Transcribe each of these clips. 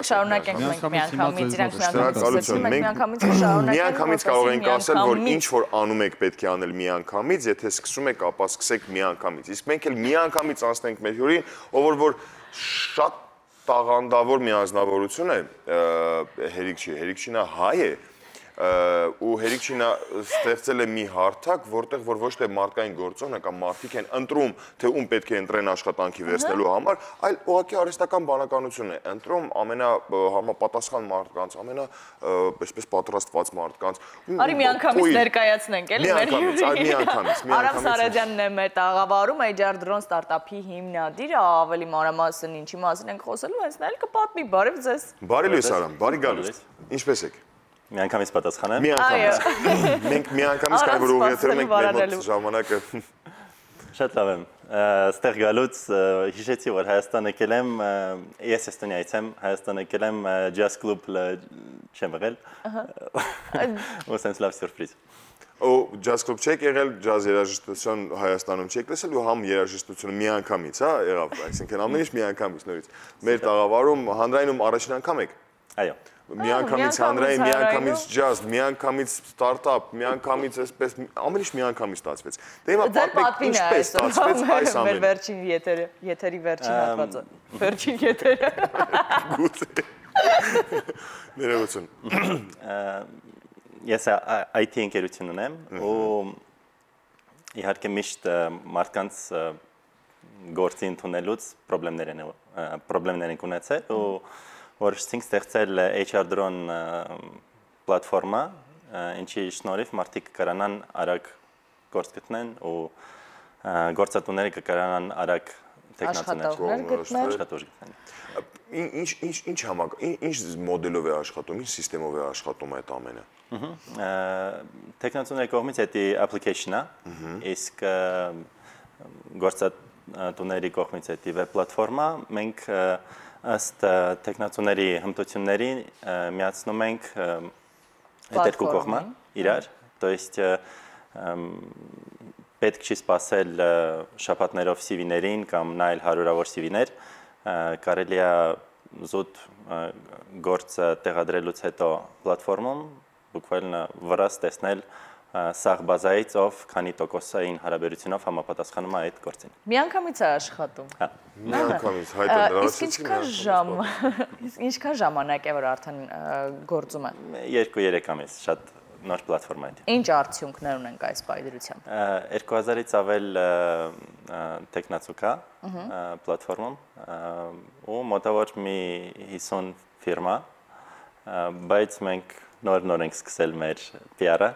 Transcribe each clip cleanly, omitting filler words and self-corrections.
Շարունակենք մենք միանգամից, իրանք միանգամից կարող ենք ասել, որ ինչ որ անում եք պետք է անել միանգամից, եթե սկսում եք, ապա սկսեք միանգամից։ Իսկ մենք էլ միանգամից անցնենք մեր հյուրին, ով որ շատ տաղանդավոր միանձնավորություն է, Հերիկչինը հայ է, ու Հերիկչինը ստեղծել է մի հարթակ, որտեղ որ ոչ թե մարդկային գործոնը կամ մարդիկ են ընտրում, թե ում պետք է ընտրեն աշխատանքի վերցնելու համար, այլ ուղղակի արհեստական բանականություն է ընտրում ամենահամապատասխան մարդկանց, այսպես պատրաստված մարդկանց։ Արի միանգամից ներկայացնենք, էլի մեր միանգամից։ Արամ Սարեդյանն է մեր տաղավարում, HR Drone ստարտափի հիմնադիրը, ավելի մանրամասն ինչի մասին ենք խոսելու, հենց նա էլ կպատմի, բարև ձեզ։ Բարի լույս Արամ, բարի գալուստ։ Ինչպես եք։ Միանգամից պատասխանեմ։ Միանգամից։ Մենք միանգամից կարող որ ուղղաթյուրում ենք մեր մոտ ժամանակը։ Շատ լավ եմ։ Ստեղ գալուց հիշեցի, որ Հայաստան եկել եմ, ես Էստոնիայից եմ, Հայաստան եկել եմ Jazz Club-ը չեմ եղել։ Ու սենց լավ սյուրպրիզ։ Ու Jazz Club չեք եղել, ջազ երաժշտություն Հայաստանում չեք տեսել ու համ երաժշտությունը միանգամից, հա, եղավ, այսինքն ամեն ինչ միանգամից նորից։ Մեր տաղավարում հանրայնում առաջին անգամ եք։ Այո։ Միանգամից հանրային, միանգամից ջազ, միանգամից ստարտափ, միանգամից այսպես ամեն ինչ միանգամից ստացվեց։ Դե հիմա պատմեք ինչպես ստացվեց այս ամենը։ Մեր վերջին եթերի վերջին հատվածը։ Վերջին եթերը։ Գուցե։ Ներողություն։ Ես IT ընկերություն ունեմ ու իհարկե միշտ մարդկանց գործի ընդունելուց պրոբլեմներ են ունեցել ու որոշեցինք ստեղծել HR Drone պլատֆորմա, ինչի շնորհիվ մարդիկ կկարանան արագ գործ գտնեն ու գործատուները կկարանան արագ աշխատողներ գտնեն։ Ինչ մոդելով է աշխատում, ինչ սիստեմով է աշխատում այդ ամենը։ Տեխնացուների կողմից դա application-ը, իսկ գործատուների կողմից դա web պլատֆորմա, մենք ըստ տեխնացուների հմտությունների միացնում ենք այդ երկու կողմը իրար, то есть պետք չի սպասել շաբաթներով CV-ներին կամ նայել հարյուրավոր CV-ներ, կարելի է զուտ գործը տեղադրելուց հետո պլատֆորմում բուկվալն վրաս տեսնել սաղ բազայից ով քանի տոկոսային հարաբերությունով համապատասխանում է այդ գործին։ Միանգամից է աշխատում։ Հա։ Միանգամից հայտը Իսկ ինչքան ժամանակ է որ արդեն գործում է։ 2-3 ամիս, շատ նոր պլատֆորմա է։ Ինչ արդյունքներ ունենք այս պայդրությամբ։ 2000-ից ավել տեխնացու կա պլատֆորմում ու մոտավոր մի 50 ֆիրմա, բայց մենք նոր ենք սկսել մեր PR-ը։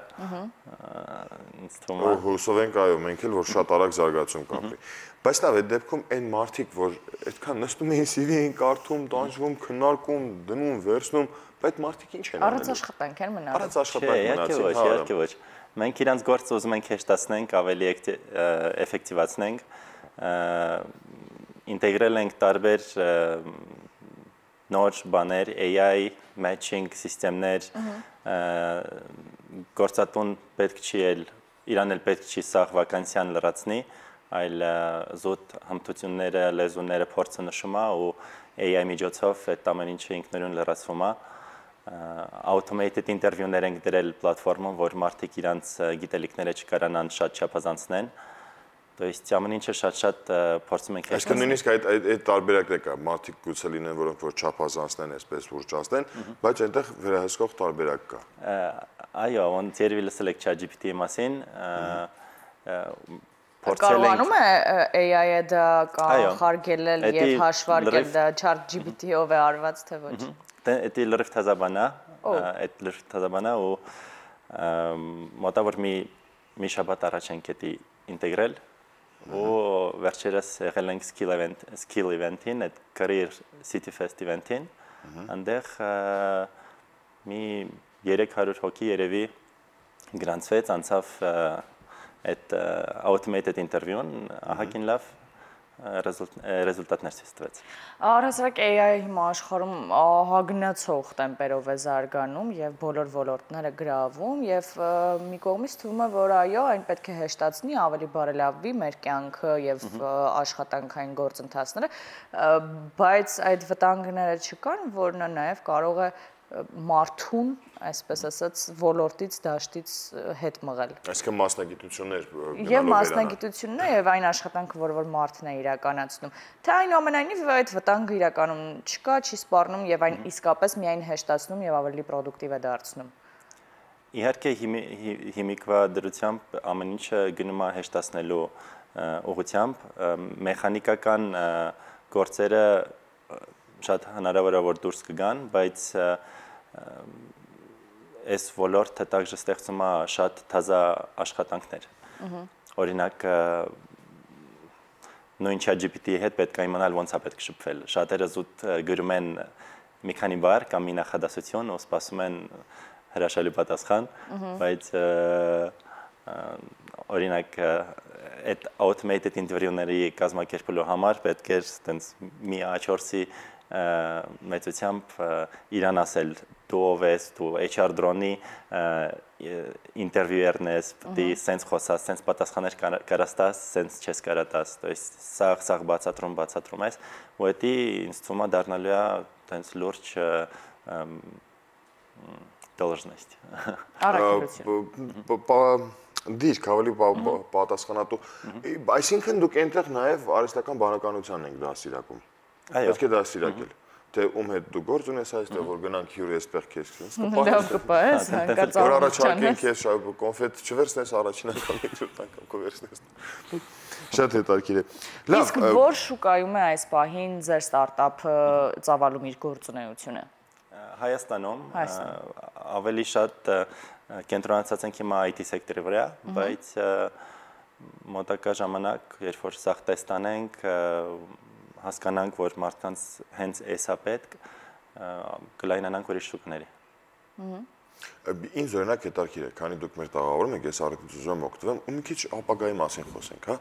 Հուսով ենք, այո, մենք էլ որ շատ արագ զարգացում կապի։ Բայց լավ, այդ դեպքում այն մարդիկ, որ այդքան նստում էին CV էին կարդում, տանջվում, քննարկում, դնում, վերցնում, բայց մարդիկ ինչ են առանց աշխատանք են մնացել։ Առանց աշխատանք մնացին։ Իհարկե ոչ։ Մենք իրանց գործը ուզում ենք հեշտացնենք, ավելի էֆեկտիվացնենք, ինտեգրել ենք տարբեր նոր բաներ, AI, matching սիստեմներ, գործատուն պետք չի իրան էլ պետք չի սաղ վականսիան լրացնի, այլ զուտ հմտությունները, լեզուները փորձը նշում է ու AI միջոցով այդ ամեն ինչը ինքնուրույն լրացվում է, automated interview-ներ ենք դրել պլատֆորմում, որ մարդիկ իրանց գիտելիքները չկարանան շատ չափազանցնեն, То есть ամեն ինչը շատ փորձում ենք Այսինքն նույնիսկ այդ տարբերակն է կա, մարդիկ գուցե լինեն, որոնք որ չափազանցնեն, այսպես ուռճացնեն, բայց այնտեղ վերահսկող տարբերակ կա։ Այո, ոնց երևի լսել եք ChatGPT-ի մասին, Կարողանում է AI-ը դա կանխարգելել եւ հաշվարկել դա ChatGPT-ով է արված թե ոչ։ Դա լրիվ թազաբան է ու մոտավոր մի շաբաթ առաջ ենք դա ինտեգրել ու վերջերս եղել ենք skill event-ին, այդ career city fest event-ին, այնտեղ մի 300 հոգի երևի գրանցվեց, անցավ այդ automated interview-ն, ահագին լավ, ռեզուլտատներ ցույց տվեց։ Առհասարակ AI հիմա աշխարհում հագնացող տեմպերով է զարգանում եւ բոլոր ոլորտները գրավում եւ մի կողմից թվում է, որ այո, այն պետք է հեշտացնի, ավելի բարելավի մեր կյանքը եւ աշխատանքային գործընթացները, բայց այդ վտանգները չկան, որն նաեւ կարող է մարդուն, այսպես ասած, ոլորտից դաշտից հետ մղել։ Այսինքն մասնագիտություններ Եվ մասնագիտությունն եւ այն աշխատանքը, որ մարդն է իրականացնում։ Թե այնուամենայնիվ այդ վտանգը իրականում չկա, չի սպառնում եւ այն իսկապես միայն հեշտացնում եւ ավելի պրոդուկտիվ է դարձնում։ Իհարկե հիմիկվա դրությամբ ամեն ինչը գնում է հեշտացնելու ուղղությամբ, մեխանիկական գործերը շատ հնարավոր է որ դուրս կգան, բայց այս ոլորտը также ստեղծում է շատ թազա աշխատանքներ։ Օրինակ նույն ChatGPT-ի հետ պետք է իմանալ ոնց է պետք շփվել։ Շատերը զուտ գրում են մի քանի բառ կամ մի նախադասություն ու սպասում են հրաշալի պատասխան, բայց օրինակ այդ automated interview-ների կազմակերպելու համար պետք է այտենց մի A4-ի մեծությամբ իրան ասել դու ով ես, դու HR drone-ի ինտերվյուերն ես, դի սենց խոսած, սենց պատասխաներ կարաս տաս, սենց չես կարա տաս, то есть սաղ բացատրում ես, ու դա ինձ թվում է դառնալու է տենց լուրջ должность։ Առաքելություն։ Դիրք ավելի պատասխանատու։ Այսինքն դուք այնտեղ նաև արհեստական բանականությանն եք դասիրակում։ Պետք է դասիրակել։ Թե ում հետ դու գործ ունես այստեղ, որ գնանք հյուրի էսպես քեզ քեզ կպահես, հանկարծ որ առաջարկեն քեզ կոնֆետ չվերցնես առաջին անգամ երկրորդ անգամ կվերցնես։ Շատ հետաքրքիր է։ Լավ, իսկ որ շուկայում է այս պահին ձեր ստարտափը ծավալում իր գործունեությունը։ Հայաստանում ավելի շատ կենտրոնացած ենք հիմա IT սեկտորի վրա, բայց մոտակա ժամանակ, երբ որ սաղ տեստանենք, հասկանանք, որ մարդկանց հենց էսա պետք, կլայնանանք ուրիշ շուկաների։ Ինձ օրինակ հետաքրքիր է, քանի դուք մեր տաղավարում եք, ես առիթից ուզում եմ օգտվեմ, ու մի քիչ ապագայի մասին խոսենք, հա։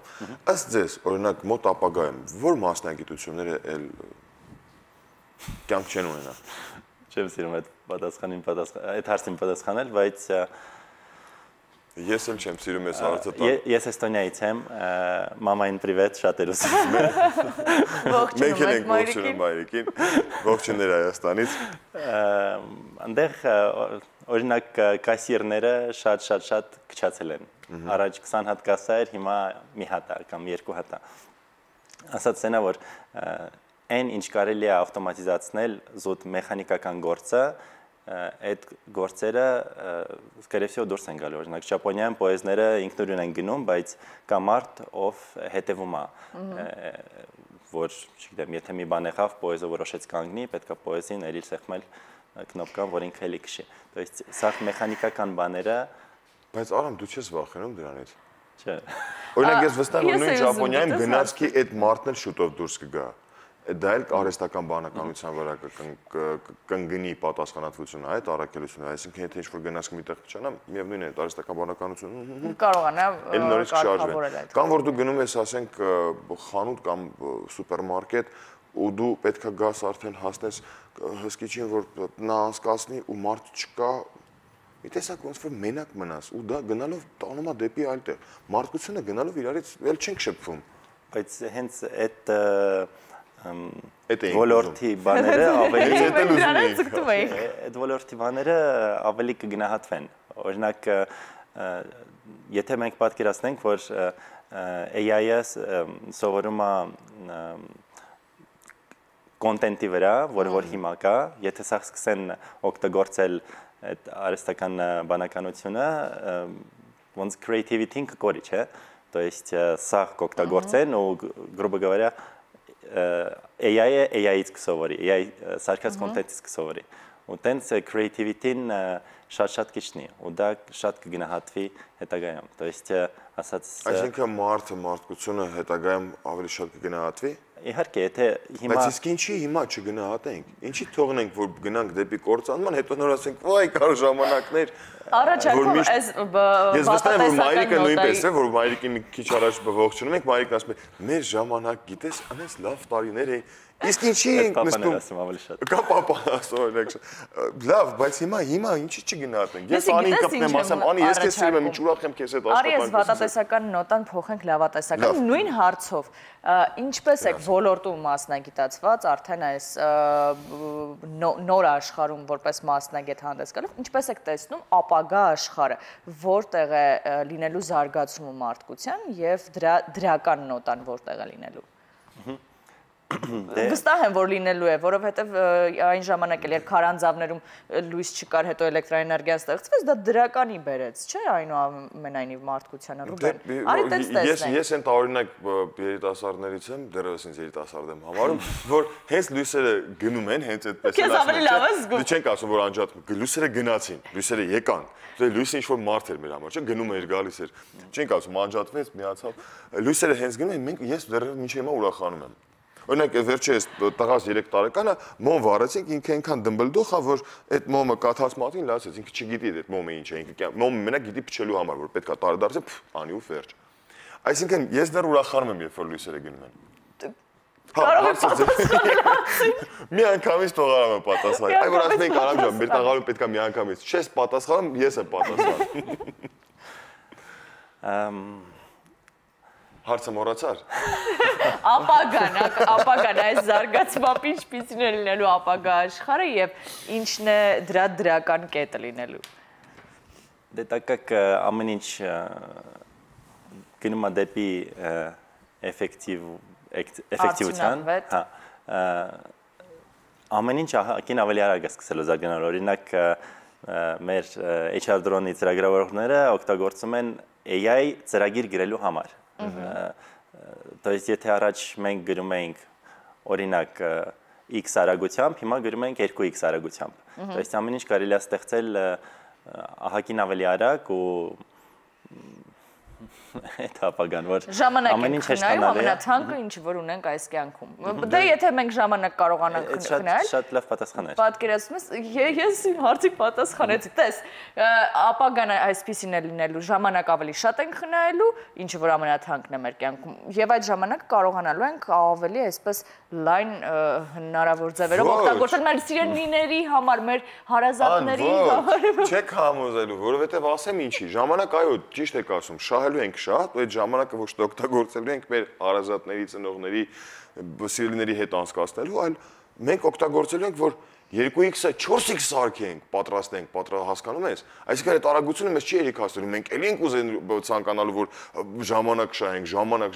Ըստ ձեզ, օրինակ մոտ ապագայում, որ մասնագիտությունները էլ կյանք չեն ունենա։ Չեմ սիրում այդ հարցին պատասխանել, բայց ես էլ չեմ սիրում այս հարցը տալ։ Ես Էստոնիայից եմ, մամային պրիվետ, շատ էր ուսում։ Մենք ենք ողջունում մայրիկին, ողջուններ Հայաստանից։ Այնտեղ օրինակ կասիրները շատ քչացել են։ Առաջ 20 հատ կասա էր, հիմա մի հատ է կամ երկու հատ է։ Ասած սենա որ այն ինչ կարելի է ավտոմատիզացնել զուտ մեխանիկական գործը, այդ գործերը скорее всего դուրս են գալու։ Օրինակ Ճապոնիայում պոեզները ինքնուրույն են գնում, բայց կա մարդ, ով հետևում է, որ, չգիտեմ, եթե մի բան եղավ, պոեզը որոշեց կանգնի, պետք է պոեզին էլի սեղմել կնոպկան, որ ինքը էլի քշի։ То есть սա մեխանիկական բաները, բայց Արամ դու չես վախենում դրանից։ Չէ։ Օրինակ ես վստահ եմ, որ նույն Ճապոնիայում գնացքի այդ մարդն էլ շուտով դուրս կգա։ Դա էլ արհեստական բանականության վրա կընկնի պատասխանատվությունը, այդ առաքելությունը, այսինքն եթե ինչ-որ գնացք միտեղ փչանա, միևնույն է, արհեստական բանականությունը կարողանա կարգավորել այդ։ Կամ որ դու գնում ես, ասենք, խանութ կամ սուպերմարկետ, ու դու պետքա գաս արդեն հասնես հսկիչին, որ նա անցկացնի ու մարդ չկա, մի տեսակ ոնց որ մենակ մնաս, ու դա գնալով տանում է դեպի այլ տեղ։ Մարդկությունը գնալով իրարից էլ չենք շփվում։ Բայց հենց այդ ոլորտի բաները ավելի կգնահատվեն։ Օրինակ, եթե մենք պատկերացնենք, որ AI-ը սովորում է կոնտենտի վրա, որ հիմա կա, եթե սա սկսեն օգտագործել այդ արհեստական բանականությունը, ոնց creativity-ին կկորի, չէ՞։ То есть սա կօգտագործեն ու грубо говоря AI-ը AI-ից կսովորի, AI սարքած կոնտենտից կսովորի։ Ու տենց creativity-ին շատ քիչնի, ու դա շատ կգնահատվի հետագայում։ То есть ասած այսինքն մարդկությունը հետագայում ավելի շատ կգնահատվի։ Իհարկե, եթե հիմա Բայց իսկ ինչի հիմա չգնահատենք։ Ինչի թողնենք, որ գնանք դեպի կործանման, հետո նոր ասենք, «Վայ, կար ժամանակներ»։ Առաջարկում այս Ես վստահ եմ, որ մայրիկը նոտայի նույնպես է, որ մայրիկին մի քիչ առաջ ողջունում ենք, մայրիկն ասում է, «Մեր ժամանակ, գիտես, անես լավ տարիներ էին»։ Իսկ ինչի ենք նստում։ ասում ավելի շատ։ Կա պապան ասում օրինակ։ Լավ, բայց հիմա ինչի չգնահատենք։ Ես անին կպնեմ, ասեմ, «Անի, ես քեզ սիրում եմ, ինչ ուրախ եմ քեզ հետ աշխատանք»։ Արի ես վատատեսական նոտան փոխենք լավատեսական նույն հարցով։ Ինչպես եք ոլորտում մասնագիտացված արդեն այս նոր աշխարհում որպես մասնագետ հանդես գալով, ինչպես եք տեսնում ապագա աշխարհը, որտեղ է լինելու զարգացումը մարդկության եւ դրական նոտան որտեղ է լինելու։ Վստահ եմ, որ լինելու է, որովհետև այն ժամանակ էլ երբ քարանձավներում լույս չկար, հետո էլեկտրաէներգիան ստեղծվեց, դա դրականի բերեց, չէ՞, այնուամենայնիվ մարդկությանը, Ռուբեն։ Արի տենց տեսնենք։ Ես այն տարօրինակ երիտասարդներից եմ, դեռևս ինձ երիտասարդ եմ համարում, որ հենց լույսերը գնում են, հենց այդպես Քեզ ավելի լավ է զգում։ Դու չենք ասում, որ անջատում, լույսերը գնացին, լույսերը եկան։ Լույսը ինչ-որ մարդ էր մեր համար, չէ՞, գնում էր, գալիս էր։ Չենք ասում, անջատվեց, միացավ։ Լույսերը հենց գնում են, մենք ես դեռևս մինչև հիմա ուրախանում եմ։ Օրինակ վերջերս տղաս 3 տարեկանը մոմ վառեցինք, ինքը այնքան դմբլդող է, որ այդ մոմը կաթած մատին լացեց, ինքը չգիտի այդ մոմը ինչ է, ինքը մոմը մենակ գիտի փչելու համար, որ պետքա տարեդարձը անի ու վերջ։ Այսինքն ես դեռ ուրախանում եմ, երբ որ լույսերը գնում են։ Մի անգամից թողարամ եմ պատասխան։ Այ որ ասում ենք Արամ ջան, մեր տաղավարում պետքա մի անգամից։ Չես պատասխանում, ես եմ պատասխանում։ Հարցը մոռացար։ Ապագան այս զարգացմամբ ինչպիսին է լինելու ապագա աշխարհը եւ ինչն է դրա դրական կետը լինելու։ Դե տակակ ամեն ինչ գնում է դեպի էֆեկտիվության, հա։ Ամեն ինչ ահագին ավելի արագ է սկսելու զարգանալ, օրինակ մեր HR drone-ի ծրագրավորողները օգտագործում են AI ծրագիր գրելու համար։ То есть եթե առաջ մենք գրում էինք օրինակ x արագությամբ, հիմա գրում ենք 2x արագությամբ։ То есть ամեն ինչ կարելի է ստեղծել ահագին ավելի արագ ու այդ ապագան, որ ամեն ինչ հեշտանալի է։ Ամենաթանկը ինչ որ ունենք այս կյանքում։ Դե եթե մենք ժամանակ կարողանանք խնայել։ Շատ լավ պատասխան է։ Պատկերացնում ես ես հարցի պատասխանեցի։ Տես, ապագան այսպեսին է լինելու, ժամանակ ավելի շատ ենք խնայելու, ինչը որ ամենաթանկն է մեր կյանքում։ Եվ այդ ժամանակ կարողանալու ենք ավելի այսպես լայն հնարավոր ձևերով օգտագործել մեր սիրելիների համար, մեր հարազատների համար։ Չեք համոզելու, որովհետև ասեմ ինչի, ժամանակ այո, ճիշտ եք ասում, շահելու ենք շատ, ու այդ ժամանակը ոչ թե օգտագործելու ենք մեր հարազատների, ծնողների, սիրելիների հետ անցկացնելու, այլ մենք օգտագործելու ենք, որ 2x-ը 4x սարքենք, պատրաստենք, հասկանում ես։ Այսինքն այդ արագությունը մեզ չի երիքացնելու, մենք էլի ենք ուզենալու ցանկանալու, որ ժամանակ շահենք, ժամանակ,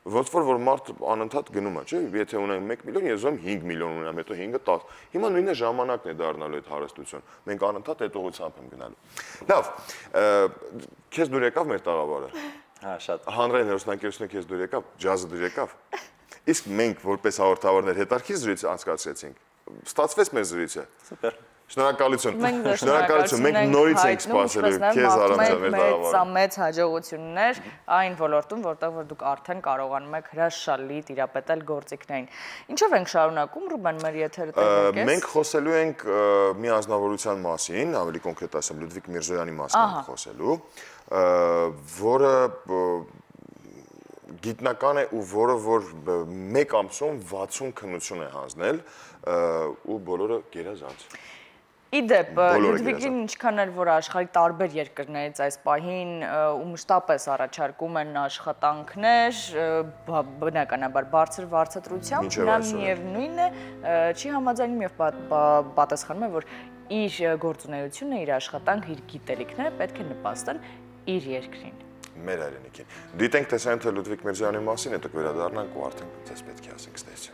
ոնց որ մարդ անընդհատ գնում է, չէ՞։ Եթե ունենք 1 միլիոն, ես ուզում 5 միլիոն ունենամ, հետո 5-ը 10։ Հիմա նույնը ժամանակն է դառնալու այդ հարստություն։ Մենք անընդհատ այդ ուղղությամբ ենք գնալու։ Լավ, քեզ դուր եկավ մեր տաղավարը։ Հա, շատ։ Հանրային հեռուստաընկերությունը քեզ դուր եկավ, ջազը դուր եկավ։ Իսկ մենք որպես հաղորդավարներ հետարքի զրույց անցկացրեցինք։ Ստացվեց մեր զրույցը։ Սուպեր։ Շնորհակալություն։ Մենք նորից ենք սպասելու քեզ Արամ ջան մեր տաղավարը։ Մեծ հաջողություններ այն ոլորտում, որտեղ որ դուք արդեն կարողանում եք հրաշալի տիրապետել գործիքներին։ Ինչով ենք շարունակում, Ռուբեն, մեր եթերը տևեք է։ Մենք խոսելու ենք մի անձնավորության մասին, ավելի կոնկրետ ասեմ, Լյուդվիգ Միրզոյանի մասին ենք խոսելու, որը գիտնական է ու որը որ 1 ամսում 60 քննություն է հանձնել ու բոլորը գերազանց։ Իդեպ, Լյուդվիգին ինչքան էլ որ աշխարհի տարբեր երկրներից այս պահին ու մշտապես առաջարկում են աշխատանքներ, բնականաբար բարձր վարձատրությամբ, նա միևնույնն է, չի համաձայնում եւ պատասխանում է, որ իր գործունեությունը, իր աշխատանքը, իր գիտելիքները պետք է նպաստեն իր երկրին։ Մեր հայրենիքին։ Դիտենք տեսանյութը Լյուդվիգ Միրզոյանի մասին, հետո կվերադառնանք ու արդեն ձեզ պետք է ասենք ստեցի։